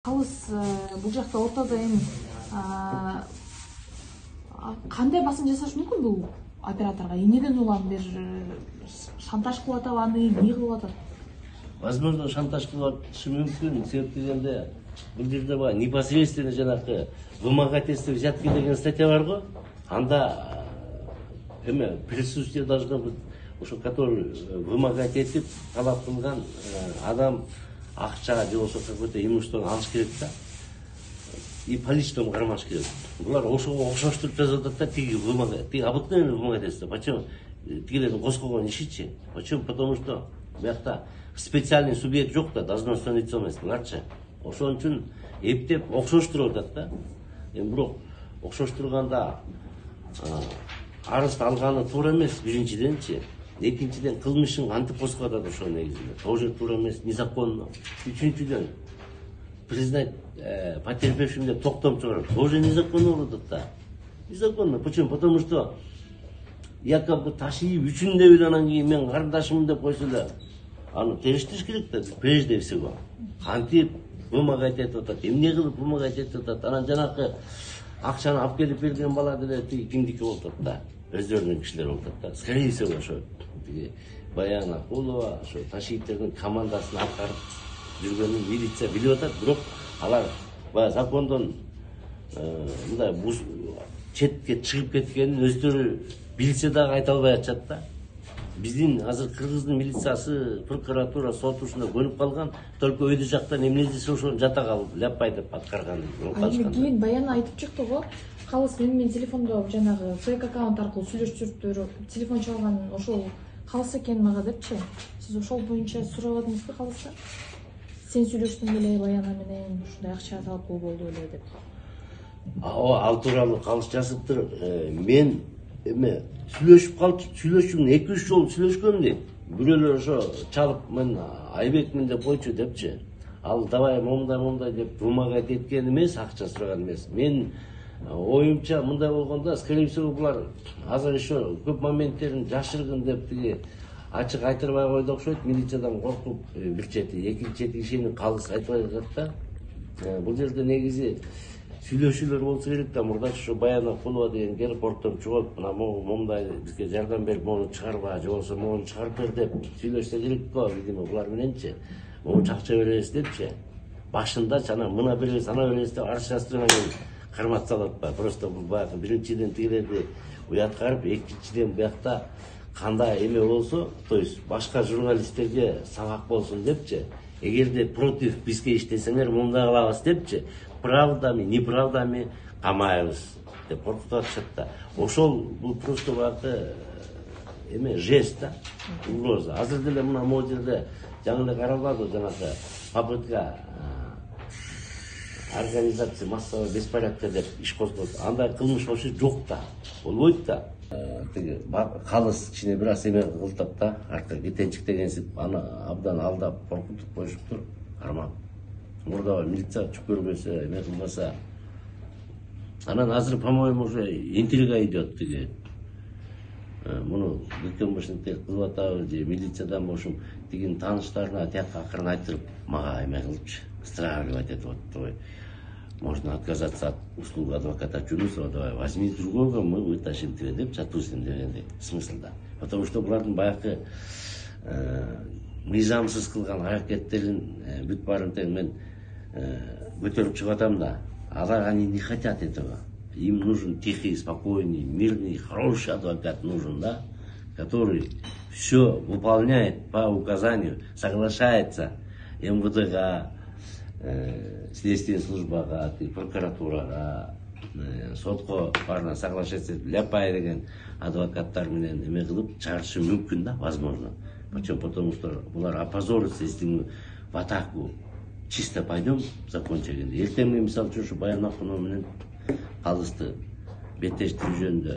Калыс бул жакта ортодо эми кандай басым жасаш мүмкүн бул операторго? Эмнеден улам бир шантаж кылып атабы, аны эмне кылып атат? Возможно, шантаж кылып атышы мүмкүн. Себеп дегенде бул жерде баягы непосредственно жанагы вымогательство взятки деген статья бар го. Анда эме присутствие должно быть, ошо который вымогать этип талап кылган адам акча же болбосо какой-то имуществону алыш керек да. И поличеством кармаш керек. Булар ошого окшоштуруп жазып атат да, тиги обыкновенный вымогательство. Почему? Тигилердин коскогон ишичи. Почему? Потому что буякта специальный субъект жок да, должностной лицо эмес буларчы. Ошон үчүн эптеп окшоштуруп атат да. Эми бирок окшоштурганда арыз алганы туура эмес биринчиденчи. Экинчиден кылмышын кантип косуп атат ошол негизинде. Тоже туура эмес, незаконно. Үчүнчүдөн признать потерпевшим деп токтом чыгарып, тоже незаконно болуп атат да. Незаконно. Почему? Потому что якобы ташыйып үчүн деп эле анан кийин мен карындашымын деп койсо эле аны териштириш керек да, прежде всего. Кантип вымогать этип атат, эмне кылып вымогать этип атат, анан жанакы акчаны алып келип берген бала деле кимдики болуп атат да, өздөрүнүн кишилери болуп атат да. Скорее всего ошо Баян Акулова ошо ташийтердин командасын аткарып жүргөнүн милиция билип атат, бирок алар баягы закондон мындай четке чыгып кеткенин өздөрү билсе дагы айта албай атышат да. Биздин азыр Кыргыздын милициясы, прокуратура, сот ушунда көнүп калган, только өйдө жактан эмне десе ошону жата калып, ляппай деп аткарган. Эми кийин Баян айтып чыкты го, Калыс менин телефондо жанагы фейк аккаунт аркылуу сүйлөшүптүр, телефон чалган ошол Калыс экен мага депчи. Сиз ошол боюнча сурабадыңызбы Калыстан? Сен сүйлөштүң беле Баян менен, ушундай акча талап кылуу болду эле деп. Ал тууралуу Калыс жазыптыр. Мен эме сүйлөшүп калып, сүйлөшүм 2-3 жолу сүйлөшкөм дейт. Бирөөлөр ошо чалып мен Айбекмин деп койчу депчи. Ал давай момундай деп вымогать эткен эмес, акча сураган эмес. Мен оюмча мындай болгондо, скорее всего булар азыр еще көп моменттерин жашыргын деп тиги ачык айтырбай койду окшойт, милициядан коркуп бир чети, экинчи чети ишенip Калыс айтпай атат да. Бул жерде негизи сүйлөшүүлөр болсо керек да. Мурдачы ошо Баян Акулова деген келип ортом чогулуп, мына момундай бизге жардам берип, мону чыгарба, же болбосо мону чыгарып бер деп сүйлөшсө керек го. Видимо, булар мененчи монча акча беребиз депчи. Башындачы анан мына беребиз, ана беребиз деп арчастырган кийин кармат салып атпайбы. Просто бул баягы биринчиден тигилерди уяткарып, экинчиден буякта кандай эме болсо, то есть башка журналисттерге сабак болсун депчи. Эгерде против бизге иштесеңер мындай кылабыз депчи. Правдами, неправдами камайбыз деп коркутуп атышат да. Ошол бул просто баягы эме жест да, угроза. Азыр деле мына могу жерде жаңы эле каралбады жанагы попытка организация массового беспорядка деп иш козгоду. Андай кылмыш вообще жок да, болбойт да. Тиги Калыс кичине бир аз эме кылтат да, артка кетенчик дегенсип аны абдан алдап коркутуп коюшуптур. Кармап мурда милиция чүп көрбөсө, эме кылбаса. Анан азыр, по-моему, уже интрига идет тиги. Муну ГКМБшниктер кылып атабы же милициядан бошум тигин тааныштарына тиякка акырын айтырып мага эме кылыпчы, стравливать этип атты. Можно отказаться от услуг адвоката Чунусова, давай возьми другого, мы вытащим тебя деп чатусин дегендей смыслда. Потому что булардын баягы мыйзамсыз кылган аракеттерин бүт баарын тең мен көтөрүп чыгып атам да. Алар они не хотят этого. Им нужен тихий, спокойный, мирный, хороший адвокат нужен, да, который все выполняет по указанию, соглашается МВДга, следственная службага, прокуратурага, сотко барына соглашаться этип, ляпай деген адвокаттар менен эме кылып чыгарышы мүмкүн да, возможно. Почему? Потому что булар опозорятся, если мы в атаку чисто пойдем закон чегенде. Эртең мисалы үчүн ушу Баян Акулова менен Калысты беттештирүү жөнүндө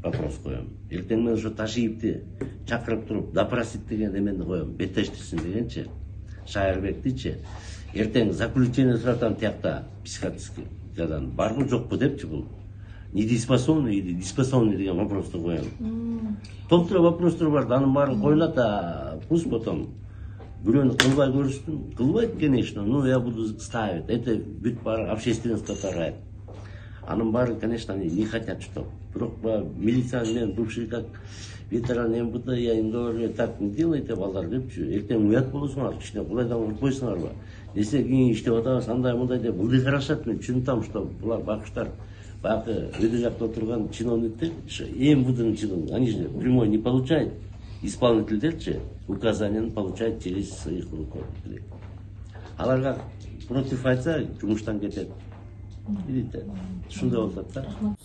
вопрос коем. Эртең мен ошо Ташиевди чакырып туруп допросить деген эмени коем, беттештирсин дегенчи, Шайырбектичи. Эртең заключение суратам тиякта психиатриядан барбы жокпу депчи, бул недееспособный или дееспособный деген вопросту коем. Топтура вопростор бар, анын баары коюлат, пусть потом бирөөнү кылбай көрүштүм. Кылбайт, конечно, но я буду ставить. Это бүт баары общественностько тарайт. Анын баары, конечно, они не хотят, что. Бирок милиция менен бывший как ветеран МВД, я им говорю, так не делайте, балдар депчү. Эртең уят болосуңар, кичине кудайдан коркпойсуңарбы? Десе кийин иштеп атабыз, андай мындай деп выхарашат. Мен түшүнүп что булар бакыштар, баягы өйдө жакта отурган чиновниктер, МВДнын чиновниктери, они же прямой не получают. Исполнительдерчи указанияны получают через своих руководителей. Аларга против айтса, жумуштан кетет. Видите, ушундай болуп атат да.